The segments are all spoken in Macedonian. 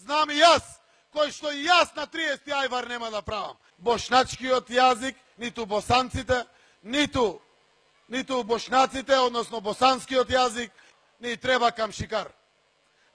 Знам и јас, кој што и јас на 30 ајвар нема да правам. Бошначкиот јазик, ниту босанците, ниту бошнаците, односно босанскиот јазик, ни треба камшикар.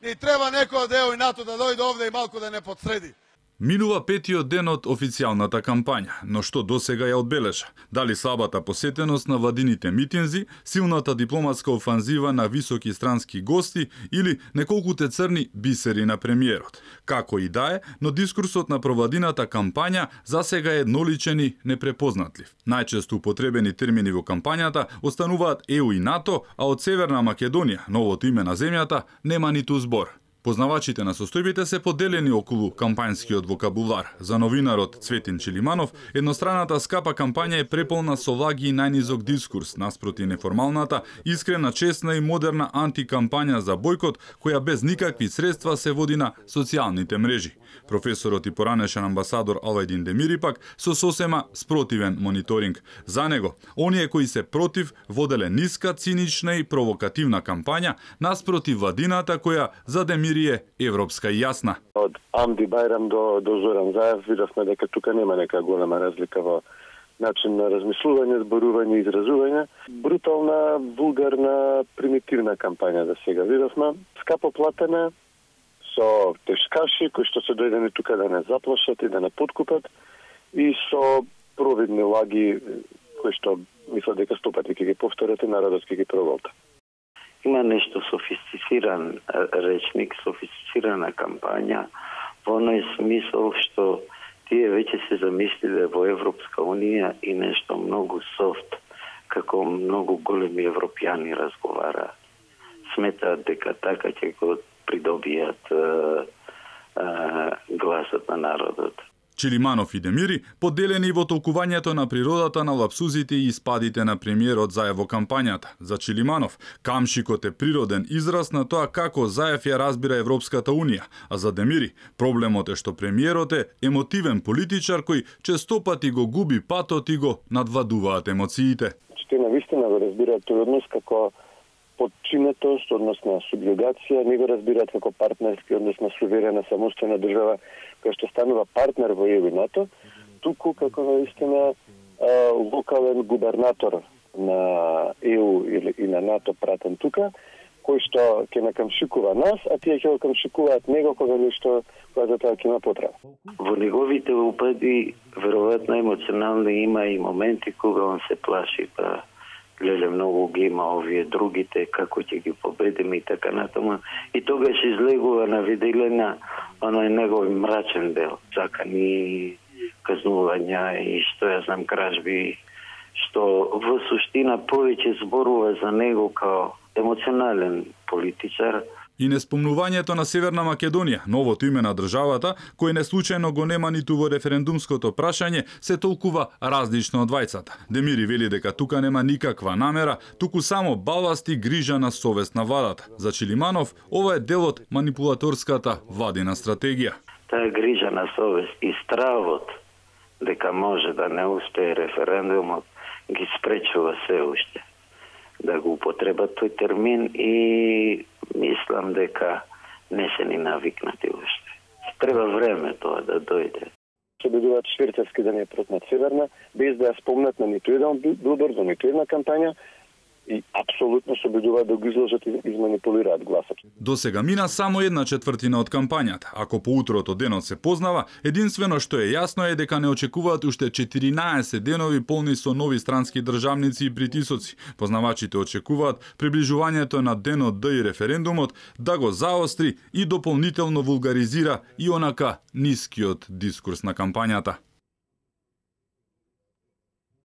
Ни треба некој од ЕУ и НАТО да дојде овде и малку да не подсреди. Минува петиот ден од официјалната кампања, но што досега ја одбележа? Дали слабата посетеност на владините митинзи, силната дипломатска офанзива на високи странски гости или неколкуте црни бисери на премиерот? Како и да е, но дискурсот на провладината кампања засега е едноличен и непрепознатлив. Најчесто употребени термини во кампањата остануваат ЕУ и НАТО, а од Северна Македонија, новото име на земјата, нема ниту збор. Познавачите на состојбите се поделени околу кампањскиот вокабулар. За новинарот Цветин Чилиманов, едностраната скапа кампања е преполна со лаги и најнизок дискурс, наспроти неформалната, искрена, честна и модерна антикампања за бојкот, која без никакви средства се води на социјалните мрежи. Професорот и поранешен амбасадор Алајдин Демири пак со сосема спротивен мониторинг. За него, оние кои се против воделе ниска, цинична и провокативна кампања, наспроти владината која за Демири е европска и јасна. Од Амди Бајрам до Зоран Заев видовме дека тука нема нека голема разлика во начин на размислување, зборување и изразување. Брутална, вулгарна, примитивна кампања да сега видовме. Скапо платена, со тешкаши кои што се дојдени тука да не заплашат и да не подкупат, и со провидни лаги кои што мислат дека 100 пати ќе ги повторат и народот ќе ги проголта. Има нешто софистициран речник, софистицирана кампања, во оној смисол што тие веќе се замислиле во Европска Унија и нешто многу софт, како многу големи европјани разговара. Сметаат дека така ќе го придобијат гласот на народот. Чилиманов и Демири поделени во толкувањето на природата на лапсузите и испадите на премиерот Заев во кампањата. За Чилиманов, камшикот е природен израз на тоа како Заев ја разбира Европската Унија, а за Демири, проблемот е што премиерот е емотивен политичар кој честопати го губи патот и го надвладуваат емоциите. Те навистина го разбираат тој однос како подчинетост, однос на субјугација, не го разбираат како партнерски однос на суверена самостојна држава која што станува партнер во ЕУ и НАТО, туку како наистина локален губернатор на ЕУ и на НАТО пратен тука, кој што ќе накамшикува нас, а тие ќе го камшикуваат него кога за тоа ќе има потреба. Во неговите упади, веројатно емоционални има и моменти кога он се плаши, па леле многу ги има овие другите, како ќе ги победиме и така натаму. И тогаш излегува на виделина оној негов мрачен дел, закани, казнувања и што ја знам кражби, што во суштина повеќе зборува за него као емоционален политичар. И неспомнувањето на Северна Македонија, новото име на државата, кој не случајно го нема ниту во референдумското прашање, се толкува различно од двајцата. Демири вели дека тука нема никаква намера, туку само баласт и грижа на совест на владата. За Чилиманов, ова е дел од манипулаторската владина стратегија. Таа грижа на совест и стравот дека може да не успее референдумот ги спречува се уште да го употребат тој термин и мислам дека не се ни навикнати уште. Треба време тоа да дојде. Се бидуваат швирцарски да не протнат Северна, без да ја спомнат на ниту еден билборд, за ниту една кампања, и апсолутно се обидуваат да го изложат и изманипулираат гласот. До сега мина само 1/4 од кампањата. Ако по утрото денот се познава, единствено што е јасно е дека не очекуваат уште 14 денови полни со нови странски државници и притисоци. Познавачите очекуваат приближувањето на денот Д и референдумот да го заостри и дополнително вулгаризира и онака нискиот дискурс на кампањата.